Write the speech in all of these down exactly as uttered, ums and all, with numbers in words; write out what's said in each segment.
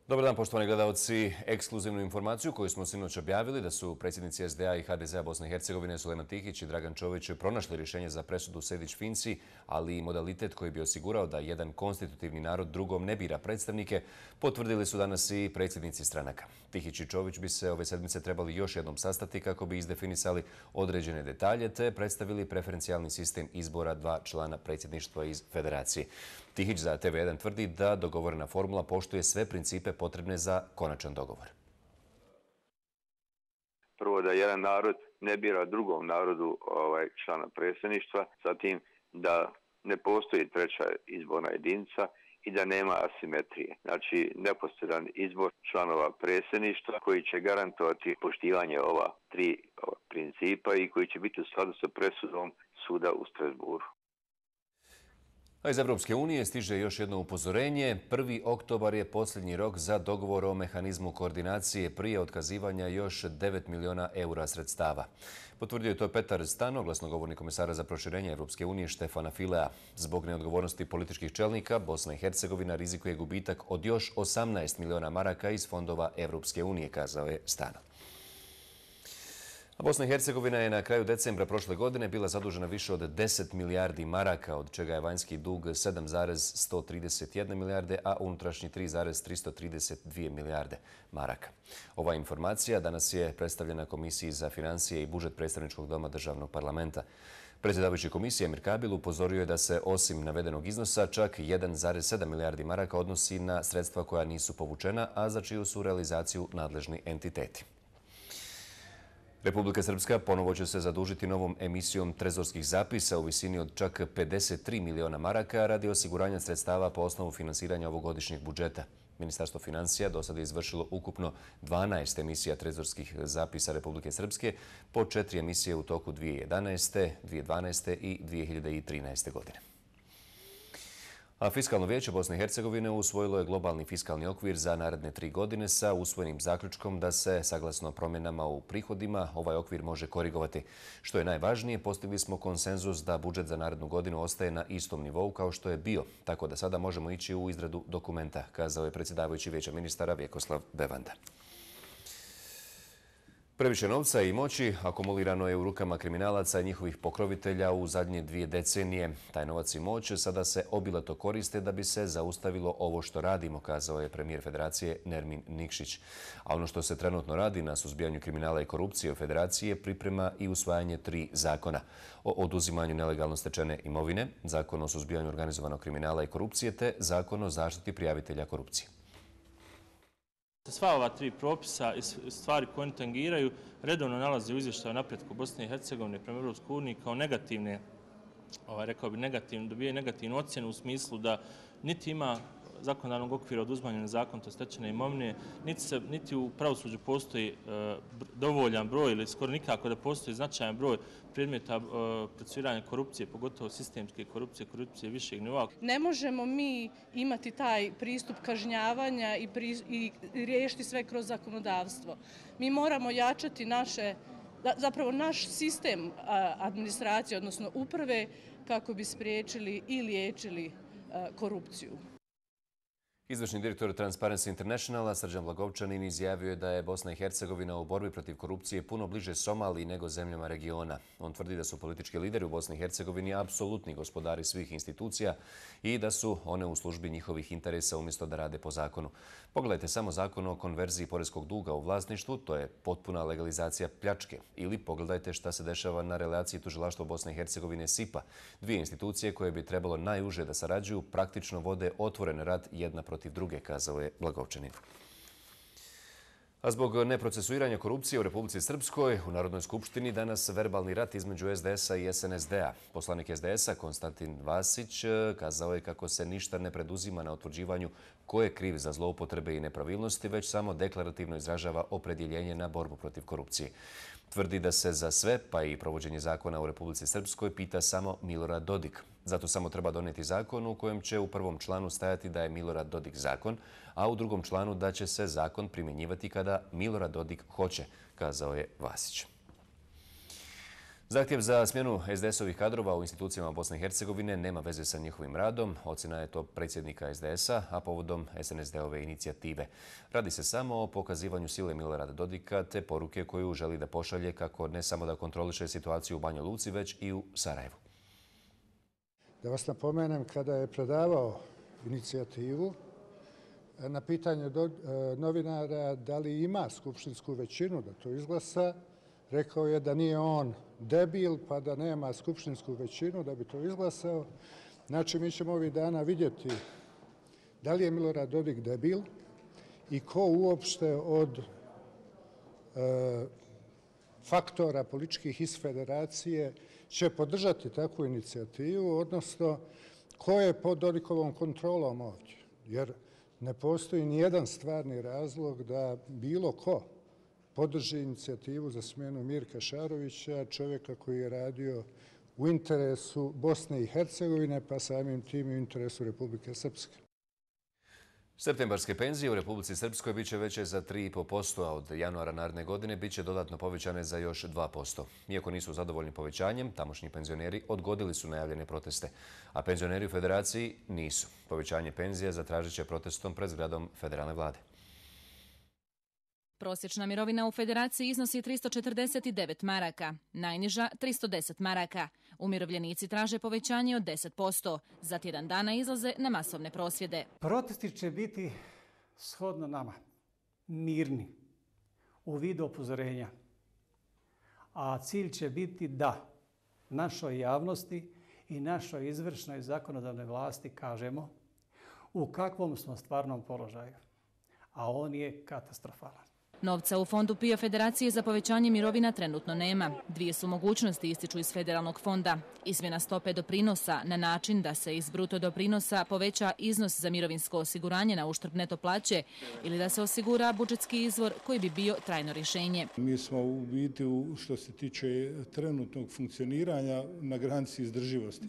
Dobar dan, poštovani gledalci. Ekskluzivnu informaciju koju smo sinoć objavili da su predsjednici S D A i H D Z A Bosne i Hercegovine Sulejman Tihić i Dragan Čović pronašli rješenje za presudu Sejdić-Finci, ali i modalitet koji bi osigurao da jedan konstitutivni narod drugom ne bira predstavnike, potvrdili su danas i predsjednici stranaka. Tihić i Čović bi se ove sedmice trebali još jednom sastati kako bi izdefinisali određene detalje te predstavili preferencijalni sistem izbora dva člana predsjedništva iz federacije. Tihić za T V jedan tvrdi da dogovorena formula poštuje sve principe potrebne za konačan dogovor. Prvo da jedan narod ne bira drugom narodu ovaj, člana predsjedništva, zatim da ne postoji treća izborna jedinica i da nema asimetrije. Znači neposredan izbor članova predsjedništva koji će garantovati poštivanje ova tri principa i koji će biti u skladu sa presudom suda u Strasbourgu. A iz Evropske unije stiže još jedno upozorenje. prvi oktobar je posljednji rok za dogovor o mehanizmu koordinacije prije otkazivanja još devet miliona eura sredstava. Potvrdio je to Petar Stano, glasnogovornik komesara za proširenje Evropske unije Štefana Filea. Zbog neodgovornosti političkih čelnika, Bosna i Hercegovina rizikuje gubitak od još osamnaest miliona maraka iz fondova Evropske unije, kazao je Stano. A Bosna i Hercegovina je na kraju decembra prošle godine bila zadužena više od deset milijardi maraka, od čega je vanjski dug sedam zarez sto trideset jedna milijarde, a unutrašnji tri zarez tristo trideset dvije milijarde maraka. Ova informacija danas je predstavljena Komisiji za financije i budžet predstavničkog doma državnog parlamenta. Predsjedavajući komisije Emir Kabil upozorio je da se osim navedenog iznosa čak jedan zarez sedam milijardi maraka odnosi na sredstva koja nisu povučena, a za čiju su realizaciju nadležni entiteti. Republika Srpska ponovo će se zadužiti novom emisijom trezorskih zapisa u visini od čak pedeset tri miliona maraka radi osiguranja sredstava po osnovu finansiranja ovogodišnjeg budžeta. Ministarstvo financija do sada je izvršilo ukupno dvanaest emisija trezorskih zapisa Republike Srpske, po četiri emisije u toku dvije hiljade jedanaeste, dvije hiljade dvanaeste i dvije hiljade trinaeste godine. A Fiskalno vijeće Bosne i Hercegovine usvojilo je globalni fiskalni okvir za naredne tri godine sa usvojenim zaključkom da se, saglasno promjenama u prihodima, ovaj okvir može korigovati. Što je najvažnije, postigli smo konsenzus da budžet za narednu godinu ostaje na istom nivou kao što je bio, tako da sada možemo ići u izradu dokumenta, kazao je predsjedavajući vijeća ministara Vjekoslav Bevanda. Previše novca i moći akumulirano je u rukama kriminalaca i njihovih pokrovitelja u zadnje dvije decenije. Taj novac i moć sada se obilato koriste da bi se zaustavilo ovo što radimo, kazao je premijer Federacije Nermin Nikšić. A ono što se trenutno radi na suzbijanju kriminala i korupcije u Federaciji priprema i usvajanje tri zakona. O oduzimanju nelegalno stečene imovine, zakon o suzbijanju organizovanog kriminala i korupcije te zakon o zaštiti prijavitelja korupcije. Sva ova tri propisa i stvari koje oni tangiraju redovno nalaze u izvještaju napretku Bosne i Hercegovine prema Evropskoj uniji kao negativne, ovaj, rekao bi negativno, dobijaju negativnu ocjenu u smislu da niti ima zakonodavnog okvira oduzimanja nezakonito stečene imovine, niti, se, niti u pravosuđu postoji e, dovoljan broj ili skoro nikako da postoji značajan broj predmeta e, procesuiranja korupcije, pogotovo sistemske korupcije, korupcije višeg nivoa. Ne možemo mi imati taj pristup kažnjavanja i, pri, i riješiti sve kroz zakonodavstvo. Mi moramo jačati naše, zapravo naš sistem administracije, odnosno uprave, kako bi spriječili i liječili korupciju. Izvršni direktor Transparency Internationala Srđan Blagovčanin izjavio je da je Bosna i Hercegovina u borbi protiv korupcije puno bliže Somaliji nego zemljama regiona. On tvrdi da su politički lideri u Bosni i Hercegovini apsolutni gospodari svih institucija i da su one u službi njihovih interesa umjesto da rade po zakonu. Pogledajte samo zakon o konverziji poreskog duga u vlasništvu, to je potpuna legalizacija pljačke. Ili pogledajte šta se dešava na relaciji tužilaštva Bosne i Hercegovine S I P A. Dvije institucije koje bi trebalo najuže da sarađuju praktično vode otvoren rat jedna protiv druge, kazao je Blagovčanin. A zbog neprocesuiranja korupcije u Republici Srpskoj u Narodnoj skupštini danas verbalni rat između S D S-a i S N S D-a. Poslanik S D S-a Konstantin Vasić kazao je kako se ništa ne preduzima na utvrđivanju ko je kriv za zloupotrebe i nepravilnosti, već samo deklarativno izražava opredjeljenje na borbu protiv korupcije. Tvrdi da se za sve, pa i provođenje zakona u Republici Srpskoj, pita samo Milorad Dodik. Zato samo treba donijeti zakon u kojem će u prvom članu stajati da je Milorad Dodik zakon, a u drugom članu da će se zakon primjenjivati kada Milorad Dodik hoće, kazao je Vasić. Zahtjev za smjenu es de esovih kadrova u institucijama Bosne i Hercegovine nema veze sa njihovim radom. Ocjena je to predsjednika es de esa, a povodom es en es de-ove inicijative. Radi se samo o pokazivanju sile Milorada Dodika te poruke koju želi da pošalje kako ne samo da kontroliše situaciju u Banja Luci, već i u Sarajevu. Da vas napomenem, kada je predavao inicijativu, na pitanje novinara da li ima skupštinsku većinu da to izglasa, rekao je da nije on debil pa da nema skupštinsku većinu da bi to izglasao. Znači, mi ćemo ovih dana vidjeti da li je Milorad Dodik debil i ko uopšte od e, faktora političkih iz federacije će podržati takvu inicijativu, odnosno ko je pod Dodikovom kontrolom ovdje. Jer ne postoji nijedan stvarni razlog da bilo ko podrži inicijativu za smjenu Mirka Šarovića, čovjeka koji je radio u interesu Bosne i Hercegovine, pa samim tim i u interesu Republike Srpske. Septembarske penzije u Republici Srpskoj bit će veće za tri i pol posto, a od januara naredne godine bit će dodatno povećane za još dva posto. Iako nisu zadovoljni povećanjem, tamošnji penzioneri odgodili su najavljene proteste, a penzioneri u federaciji nisu. Povećanje penzija zatražit će protestom pred zgradom federalne vlade. Prosječna mirovina u federaciji iznosi tristo četrdeset devet maraka, najniža tristo deset maraka. Umirovljenici traže povećanje od deset posto. Za tjedan dana izlaze na masovne prosvjede. Protesti će biti shodno nama, mirni, u vidu upozorenja. A cilj će biti da našoj javnosti i našoj izvršnoj zakonodavnoj vlasti kažemo u kakvom smo stvarnom položaju. A on je katastrofalan. Novca u fondu PIO Federacije za povećanje mirovina trenutno nema. Dvije su mogućnosti ističu iz federalnog fonda. Izmjena stope doprinosa na način da se iz bruto doprinosa poveća iznos za mirovinsko osiguranje na uštrb neto plaće ili da se osigura budžetski izvor koji bi bio trajno rješenje. Mi smo u biti, što se tiče trenutnog funkcioniranja, na granici izdrživosti.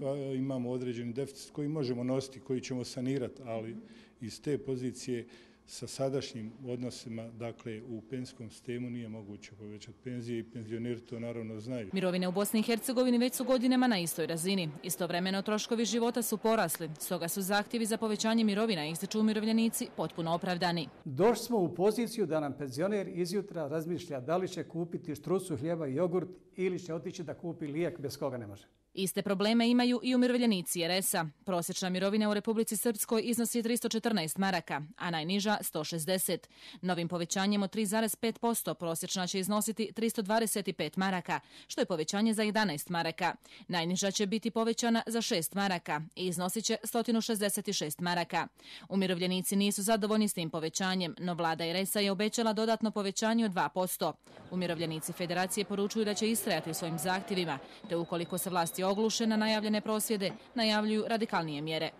Ali imamo određeni deficit koji možemo nositi, koji ćemo sanirati, ali iz te pozicije sa sadašnjim odnosima, dakle, u penzijskom sistemu nije moguće povećati penzije i penzioneri to naravno znaju. Mirovine u Bosni i Hercegovini već su godinama na istoj razini. Istovremeno troškovi života su porasli, stoga su zahtjevi za povećanje mirovina, ističu umirovljenici, potpuno opravdani. Došli smo u poziciju da nam penzioner izjutra razmišlja da li će kupiti štrucu hljeba i jogurt ili će otići da kupi lijek bez koga ne može. Iste probleme imaju i umirovljenici er es a. Prosječna mirovina u Republici Srpskoj iznosi tristo četrnaest maraka, a najniža sto šezdeset. Novim povećanjem od tri zarez pet posto prosječna će iznositi tristo dvadeset pet maraka, što je povećanje za jedanaest maraka. Najniža će biti povećana za šest maraka i iznosit će sto šezdeset šest maraka. Umirovljenici nisu zadovoljni s tim povećanjem, no vlada er es a je obećala dodatno povećanje od dva posto. Umirovljenici federacije poručuju da će istrajati u svojim zahtjevima, te ukoliko se vlasti ogluše na najavljene prosvjede, najavljuju radikalnije mjere.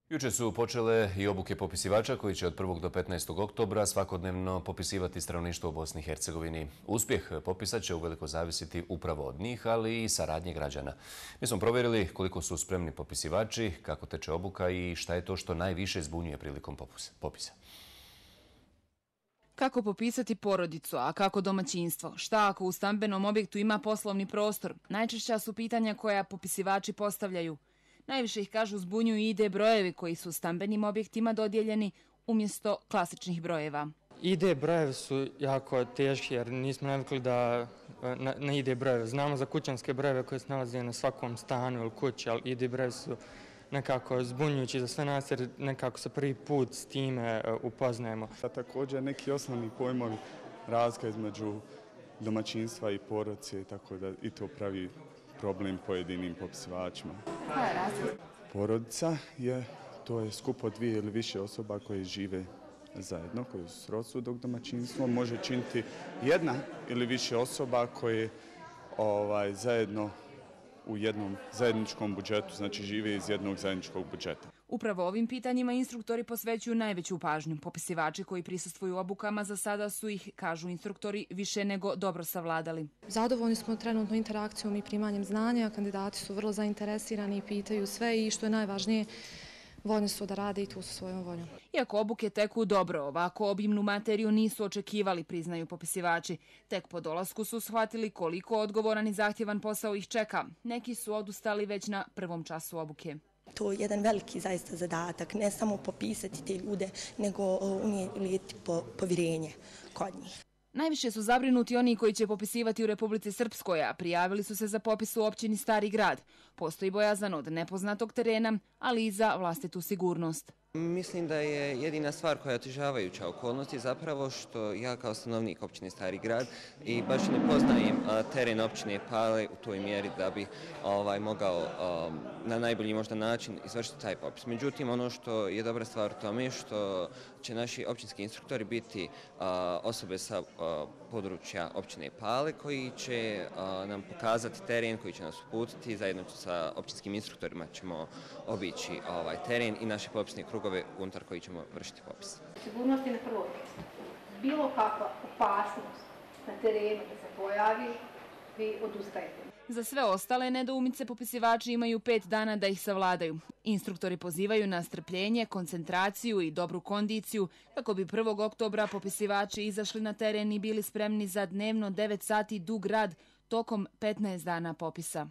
Jučer su počele i obuke popisivača koji će od prvog do petnaestog oktobra svakodnevno popisivati stanovništvo u Bosni i Hercegovini. Uspjeh popisa će uveliko zavisiti upravo od njih, ali i saradnje građana. Mi smo provjerili koliko su spremni popisivači, kako teče obuka i šta je to što najviše zbunjuje prilikom popisa. Kako popisati porodicu, a kako domaćinstvo? Šta ako u stambenom objektu ima poslovni prostor? Najčešća su pitanja koja popisivači postavljaju. Najviše ih, kažu, zbunjuju i I D brojevi koji su stambenim objektima dodijeljeni umjesto klasičnih brojeva. I D brojevi su jako teški jer nismo navikli da na, na I D brojeve. Znamo za kućanske brojeve koje se nalaze na svakom stanu ili kući, ali I D brojevi su nekako zbunjujući za sve nas jer nekako se prvi put s time upoznajemo. Također neki osnovni pojmovi razlika između domaćinstva i porodice, tako da i to pravi problem pojedinim popisivačima. Koja je razlika? Porodica je, to je skup od dvije ili više osoba koje žive zajedno, koje su srodstvo, dok domaćinstvo može činiti jedna ili više osoba koje ovaj, zajedno u jednom zajedničkom budžetu, znači žive iz jednog zajedničkog budžeta. Upravo ovim pitanjima instruktori posvećuju najveću pažnju. Popisivači koji prisustvuju obukama za sada su ih, kažu instruktori, više nego dobro savladali. Zadovoljni smo trenutno interakcijom i primanjem znanja. Kandidati su vrlo zainteresirani i pitaju sve i što je najvažnije, voljni su da rade i tu su svojom voljom. Iako obuke teku dobro, ovako obimnu materiju nisu očekivali, priznaju popisivači. Tek po dolasku su shvatili koliko odgovoran i zahtjevan posao ih čeka. Neki su odustali već na prvom času obuke. To je jedan veliki zaista zadatak, ne samo popisati te ljude, nego unijeti povjerenje kod njih. Najviše su zabrinuti oni koji će popisivati u Republici Srpskoj, a prijavili su se za popis u općini Stari grad. Postoji bojazan od nepoznatog terena, ali i za vlastitu sigurnost. Mislim da je jedina stvar koja je otežavajuća okolnost je zapravo što ja kao stanovnik općine Stari grad i baš ne poznajem teren općine Pale u toj mjeri da bi ovaj, mogao um, na najbolji možda način izvršiti taj popis. Međutim, ono što je dobra stvar u tome je što će naši općinski instruktori biti uh, osobe sa uh, područja općine Pale koji će uh, nam pokazati teren, koji će nas uputiti. Zajedno sa općinskim instruktorima ćemo obići ovaj teren i naše popisne krugove unutar koji ćemo vršiti popis. Sigurnost je na prvo mjesto. Bilo kakva opasnost na terenu da se pojavi, vi odustajete. Za sve ostale nedoumice popisivači imaju pet dana da ih savladaju. Instruktori pozivaju na strpljenje, koncentraciju i dobru kondiciju kako bi prvog oktobra popisivači izašli na teren i bili spremni za dnevno devet sati dug rad tokom petnaest dana popisa.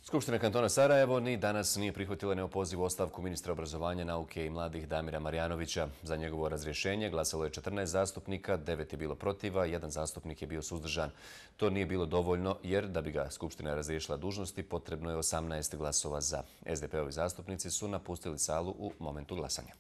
Skupština kantona Sarajevo ni danas nije prihvatila neopozivu ostavku ministra obrazovanja, nauke i mladih Damira Marjanovića. Za njegovo razrješenje glasalo je četrnaest zastupnika, devet je bilo protiva, jedan zastupnik je bio suzdržan. To nije bilo dovoljno jer da bi ga Skupština razriješila dužnosti potrebno je osamnaest glasova za. S D P-ovi zastupnici su napustili salu u momentu glasanja.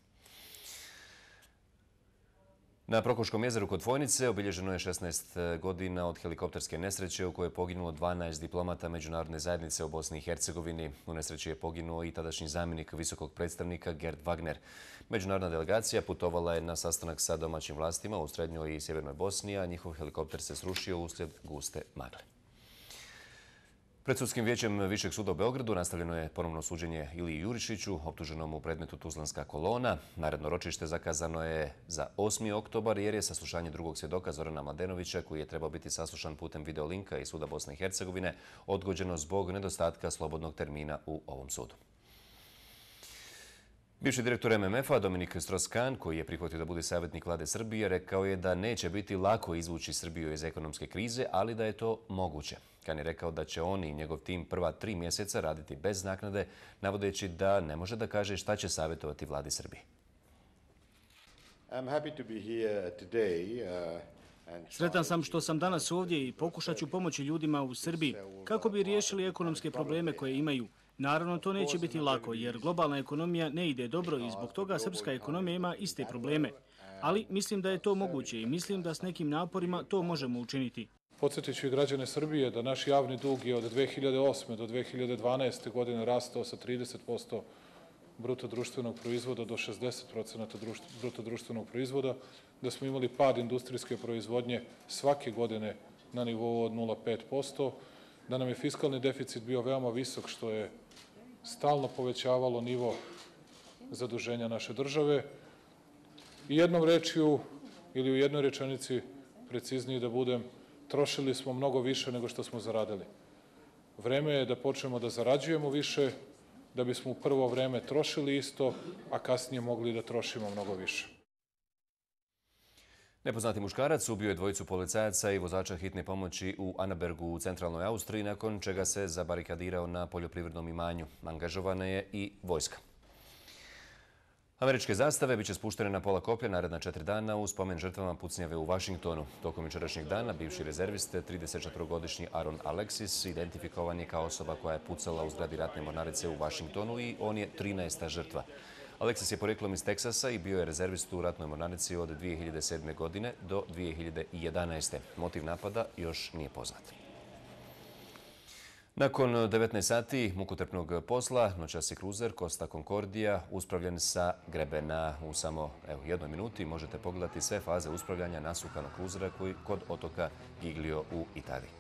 Na Prokoškom jezeru kod Fojnice obilježeno je šesnaest godina od helikopterske nesreće u kojoj je poginulo dvanaest diplomata međunarodne zajednice u Bosni i Hercegovini. U nesreći je poginuo i tadašnji zamjenik visokog predstavnika Gerd Wagner. Međunarodna delegacija putovala je na sastanak sa domaćim vlastima u srednjoj i sjevernoj Bosni, a njihov helikopter se srušio uslijed guste magle. Pred sudskim vijećem Višeg suda u Beogradu nastavljeno je ponovno suđenje Iliji Jurišiću, optuženom u predmetu Tuzlanska kolona. Naredno ročište zakazano je za osmi oktobar jer je saslušanje drugog svjedoka Zorana Mladenovića, koji je trebao biti saslušan putem videolinka iz suda Bosne i Hercegovine, odgođeno zbog nedostatka slobodnog termina u ovom sudu. Bivši direktor M M F-a Dominik Strauss-Kahn, koji je prihvatio da bude savjetnik vlade Srbije, rekao je da neće biti lako izvući Srbiju iz ekonomske krize, ali da je to moguće. Kahn je rekao da će on i njegov tim prva tri mjeseca raditi bez naknade, navodeći da ne može da kaže šta će savjetovati vladi Srbije. Sretan sam što sam danas ovdje i pokušat ću pomoći ljudima u Srbiji kako bi riješili ekonomske probleme koje imaju. Naravno, to neće biti lako jer globalna ekonomija ne ide dobro i zbog toga srpska ekonomija ima iste probleme. Ali mislim da je to moguće i mislim da s nekim naporima to možemo učiniti. Podsjetit ću i građane Srbije da naš javni dug je od dve hiljade osme do dve hiljade dvanaeste. godine rastao sa trideset posto bruto društvenog proizvoda do šezdeset posto bruto društvenog proizvoda, da smo imali pad industrijske proizvodnje svake godine na nivou od nula zarez pet posto, da nam je fiskalni deficit bio veoma visok, što je stalno povećavalo nivo zaduženja naše države. I jednom rečju ili u jednoj rečenici, precizniji da budem, trošili smo mnogo više nego što smo zaradili. Vreme je da počnemo da zarađujemo više, da bismo u prvo vreme trošili isto, a kasnije mogli da trošimo mnogo više. Nepoznati muškarac ubio je dvojicu policajaca i vozača hitne pomoći u Annabergu u centralnoj Austriji, nakon čega se zabarikadirao na poljoprivrednom imanju. Angažovana je i vojska. Američke zastave biće spuštene na pola koplja naredna četiri dana u spomen žrtvama pucnjave u Vašingtonu. Tokom jučerašnjeg dana bivši rezerviste, tridesetčetvorogodišnji Aaron Alexis, identifikovan je kao osoba koja je pucala u zgradi ratne mornarice u Vašingtonu i on je trinaesta žrtva. Alexis je porijeklom iz Teksasa i bio je rezervist u ratnoj mornarici od dvije hiljade sedme. godine do dvije hiljade jedanaeste. Motiv napada još nije poznat. Nakon devetnaest sati mukotrpnog posla, noćasi kruzer Costa Concordia uspravljen sa grebena. U samo evo, jednoj minuti možete pogledati sve faze uspravljanja nasukanog kruzera koji kod otoka Giglio u Italiji.